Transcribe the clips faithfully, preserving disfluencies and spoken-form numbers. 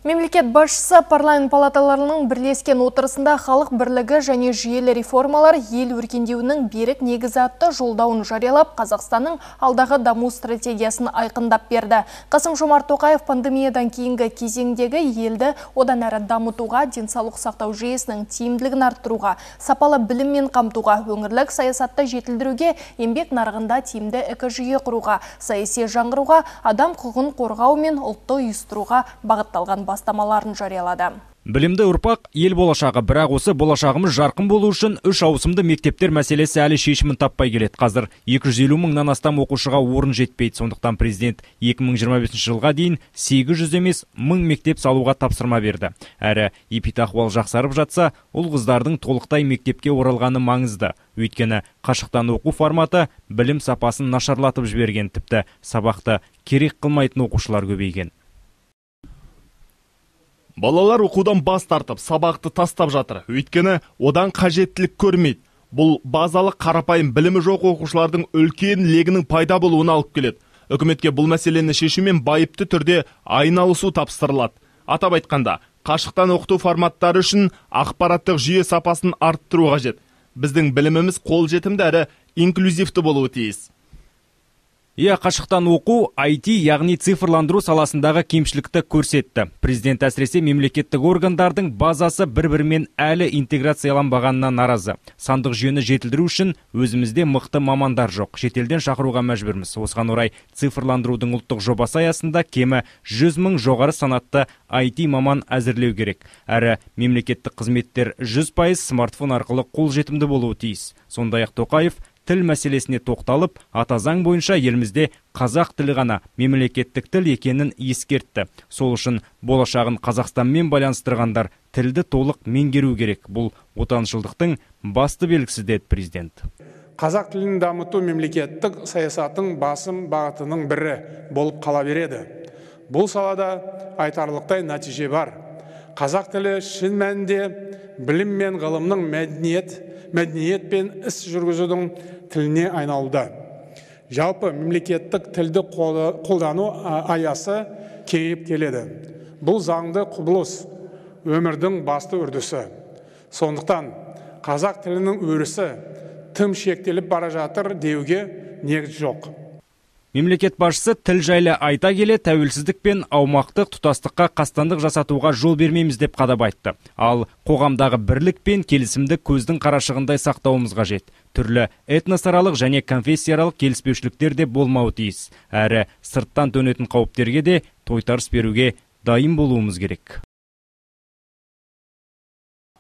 Мемлекет басшысы парламент палаталарының бірлескен отырысында халық бірлігі және жүйелі реформалар ел өркендеуінің берік негізі атты жолдауын жариялап, Қазақстанның алдағы даму стратегиясын айқындап берді. Қасым-Жомарт Тоқаев пандемиядан кейінгі кезеңдегі елді одан әрі дамытуға, денсаулық сақтау жүйесінің тиімділігін арттыруға, сапалы біліммен қамтуға, өңірлік саясатты жетілдіруге, еңбек нарығында тиімді экожүйе құруға, саяси жаңғыруға, адам құқығын қорғау мен ұлтты ұйыстыруға бағытталған бастамаларын жариялады. Білімді ұрпақ ел болашағы, бірақ осы болашағымыз жарқын болу үшін үш ауысымды мектептер мәселесі әлі шешімін таппай келеді. Қазір екі жүз елу мыңнан астам оқушыға орын жетпейді. Сондықтан президент екі мың жиырма бесінші жылға дейін сегіз жүз емес мың мектеп салуға тапсырма берді. Әрі эпидахуал жақсарып жатса, ұл қыздардың толықтай мектепке оралғаны маңызды. Өйткені қашықтан оқу форматы білім сапасын нашарлатып жіберген, тіпті сабақты керек қылмайтын оқушылар көбейген. Балалар оқудан бас тартып, сабақты тастап жатыр. Өйткені одан қажеттілік көрмейді. Бұл базалық қарапайым білімі жоқ оқушылардың үлкен легінің пайда болуына алып келеді. Үкіметке бұл мәселені шешумен байыпты түрде айналысу тапсырылады. Атап айтқанда, қашықтан оқыту форматтары үшін ақпараттық жүйе сапасын арттыру қажет. Біздің біліміміз қолжетімді әрі инклюзивті болуы тиіс. Иә, қашықтан оқу ай ти, яғни цифрландыру саласындағы кемшілікті көрсетті. Президент әсіресе мемлекеттік органдардың базасы бір-бірімен әлі интеграцияланбағанына наразы. Сандық жүйені жетілдіру үшін өзімізде мықты мамандар жоқ. Шетелден шақыруға мәжбүрміз. Осыған орай цифрландырудың ұлттық жобасы аясында кемі жүз мың жоғары санатты ай ти маман әзірлеу керек. Әрі мемлекеттік қызметтер жүз пайыз смартфон арқылы қолжетімді болуы тиіс. Сондай-ақ Тоқаев тіл мәселесіне тоқталып, ата заң бойынша елімізде қазақ тілі ғана мемлекеттік тіл екенін ескертті. Сол үшін болашағын Қазақстанмен байланыстырғандар тілді толық меңгеру керек. Бұл отаншылдықтың басты белгісі деді президент. Қазақ тілін дамыту мемлекеттік саясаттың басым бағытының бірі болып қала береді. Бұл салада айтарлықтай нәтиже бар. Қазақ тілі шын мәнінде білім мен ғылымның мәдениет мәдениет пен іс жүргізудің тіліне айналуда. Жалпы мемлекеттік тілді қолдану аясы кеңейіп келеді. Бұл заңды құбылыс өмірдің басты үрдісі. Сондықтан қазақ тілінің өрісі тым шектеліп бара жатыр деуге негіз жоқ. Мемлекет басшысы тіл жайлы айта келе, тәуелсіздік пен аумақтық тұтастыққа қастандық жасатуға жол бермейміз деп қадап айтты. Ал қоғамдағы бірлік пен келісімді көздің қарашығындай сақтауымыз қажет. Түрлі этносаралық және конфессияаралық келіспеушіліктер де болмауы тиіс. Әрі сырттан төнетін қауіптерге де тойтарыс беруге дайын болуымыз керек.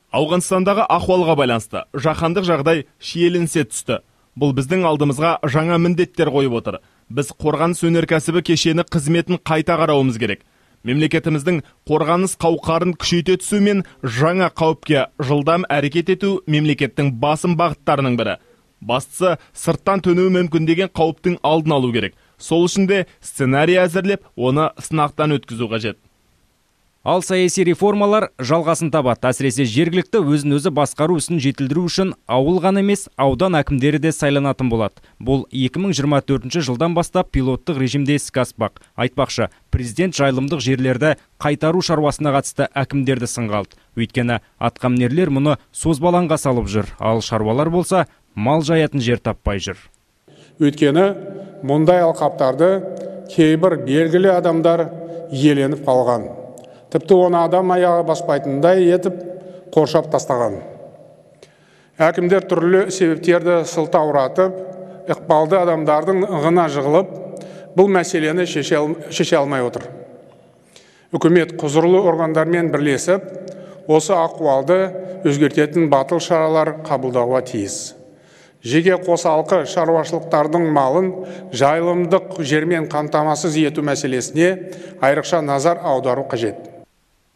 Ауғанстандағы ахуалға байланысты жаһандық жағдай шиеленісе түсті. Бұл біздің алдымызға жаңа міндеттер қойып отыр. Біз қорғаныс өнеркәсібі кешені қызметін қайта қарауымыз керек. Мемлекетіміздің қорғаныс қауқарын күшейте түсу мен жаңа қауіпке жылдам әрекет ету мемлекеттің басым бағыттарының бірі. Бастысы сырттан төнуі мүмкін деген қауіптің алдын алу керек. Сол үшін де сценарий әзірлеп, оны сынақтан өткізу қажет. Ал саяси реформалар жалғасын табады. Әсіресе жергілікті өзін-өзі басқару ісін жетілдіру үшін ауыл ғана емес, аудан әкімдері де сайланатын болады. Бұл екі мың жиырма төртінші жылдан бастап пилоттық режимде іске аспақ. Айтпақшы, президент жайылымдық жерлерді қайтару шаруасына қатысты әкімдерді сынға алды. Өйткені атқамінерлер мұны созбалаңға салып жүр, ал шаруалар болса мал жаятын жер таппай жүр. Өйткені мұндай алқаптарды кейбір белгілі адамдар иеленіп қалған. Тіпті оны адам аяғы баспайтындай етіп қоршап тастаған. Әкімдер түрлі себептерді сылтауратып, ықпалды адамдардың ығына жығылып, бұл мәселені шеше алмай отыр. Үкімет құзырлы органдармен бірлесіп, осы ахуалды өзгертетін батыл шаралар қабылдауға тиіс. Жеке қосалқы шаруашылықтардың малын жайылымдық жермен қамтамасыз ету мәселесіне айрықша назар аудару қажет.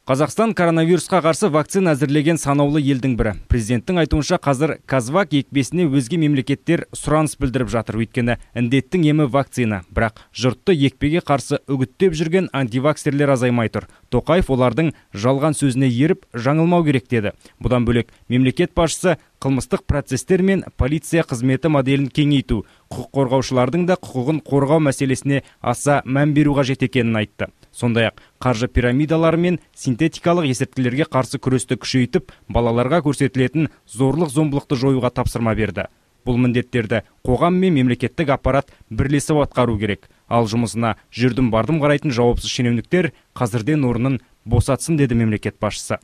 Қазақстан коронавирусқа қарсы вакцина әзірлеген санаулы елдің бірі. Президенттің айтуынша қазір Казвак екпесіне өзге мемлекеттер сұраныс білдіріп жатыр. Өйткені індеттің емі вакцина. Бірақ жұртты екпеге қарсы үгіттеп жүрген антиваксерлер азаймай тұр. Тоқаев олардың жалған сөзіне еріп жаңылмау керек деді. Бұдан бөлек мемлекет басшысы қылмыстық процестер мен полиция қызметі моделін кеңейту, құқық қорғаушылардың да құқығын қорғау мәселесіне аса мән беру қажет екенін айтты. Сондай-ақ қаржы пирамидалары мен синтетикалық есірткілерге қарсы күресті күшейтіп, балаларға көрсетілетін зорлық-зомбылықты жоюға тапсырма берді. Бұл міндеттерді қоғам мен мемлекеттік аппарат бірлесіп атқару керек. Ал жұмысына жүрдім бардым қарайтын жауапсыз шенеуніктер қазірден орнын босатсын, деді мемлекет басшысы.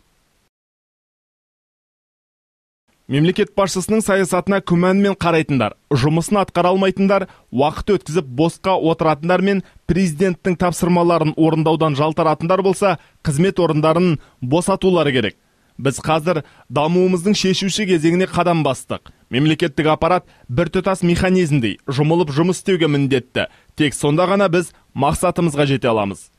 Мемлекет басшысының саясатына күмәнмен қарайтындар, жұмысын атқара алмайтындар, уақыт өткізіп босқа отыратындар мен президенттің тапсырмаларын орындаудан жалтаратындар болса, қызмет орындарын босатулары керек. Біз қазір дамуымыздың шешуші кезеңіне қадам бастық. Мемлекеттік аппарат біртұтас механизмдей жұмылып жұмыс істеуге міндетті. Тек сонда ғана біз мақсатымызға жете аламыз.